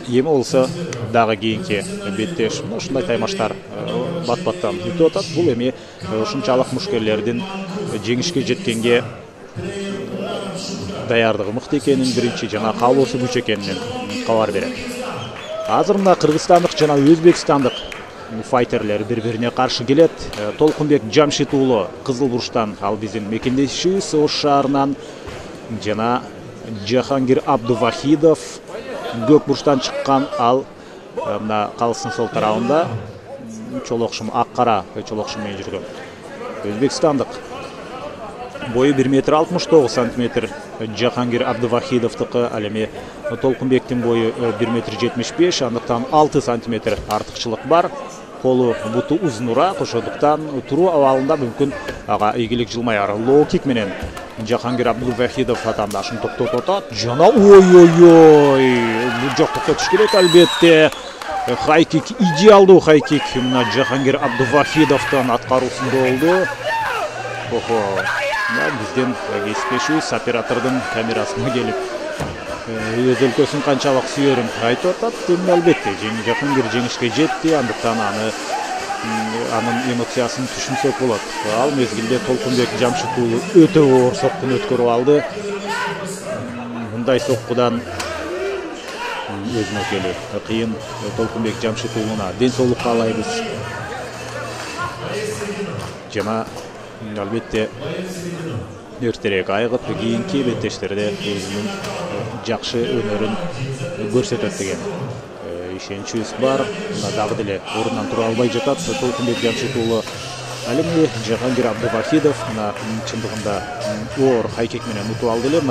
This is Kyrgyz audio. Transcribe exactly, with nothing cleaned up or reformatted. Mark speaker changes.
Speaker 1: эми болсо дагы кийинки беттеш ушундай таймаштар бат баттан өтүп атат. Бул эми ушунчалык мушкерлердин жеңишке жеткенге даярдыгы мыкты экенин, биринчи жана каалоосу күч экенин кабар берет. Азыр мына кыргызстандык жана өзбекстандык файтерлер бири-бирине каршы келет. Толкунбек Жамшит уулу Кызыл бурчтан, ал биздин мекендешибиз Ош шаарынан, жана Жахангир Абдувахидов көк бурчтан чыккан, ал мына калыстын сол тарабында чолокшум ак кара чолокшум менен жүргөн. Өзбекстандык бою бир метр алтымыш тогуз сантиметр Жахангир Абдувахидовдуку, ал эми Толкунбектин бою бир метр жетимиш беш, андыктан алты сантиметр артыкчылык бар. Колу буту узунураак, ошондуктан туруу абалында мүмкүн ага ийгилик жылмаяр. Лоу кик менен Жахангир Абдувахидов атаандашын токтотуп атат. Жана ой-ой-ой, бул жок токтотуш керек албетте. Хайкик идеалдуу хайкик мына Жахангир Абдувахидовдон аткаруусунда болду. Охо, биздин кесиптешибиз оператордун камерасына келип өз өлкөсүн канчалык сүйөрүн айтып атат. Эми албетте Жахангир жеңишке жетти, андыктан аны анын эмоциясын түшүнсөк болот. Ал мезгилде Толкунбек Жамшит уулу өтө оор соккуну өткөрүп алды. Мындай соккудан өзүнө келүү кыйын. Толкунбек Жамшит уулуна ден соолук каалайбыз. Жана албетте эртерээк айыгып кийинки беттештерде өзүнүн жакшы өнөрүн көрсөтөт деген ишеничибиз бар. Мына дагы деле ордунан тура албай жатат Толкунбек Жамшит уулу. Ал эми Жахангир Абдувахидов мына чындыгында оор хайкик менен утуп алды эле.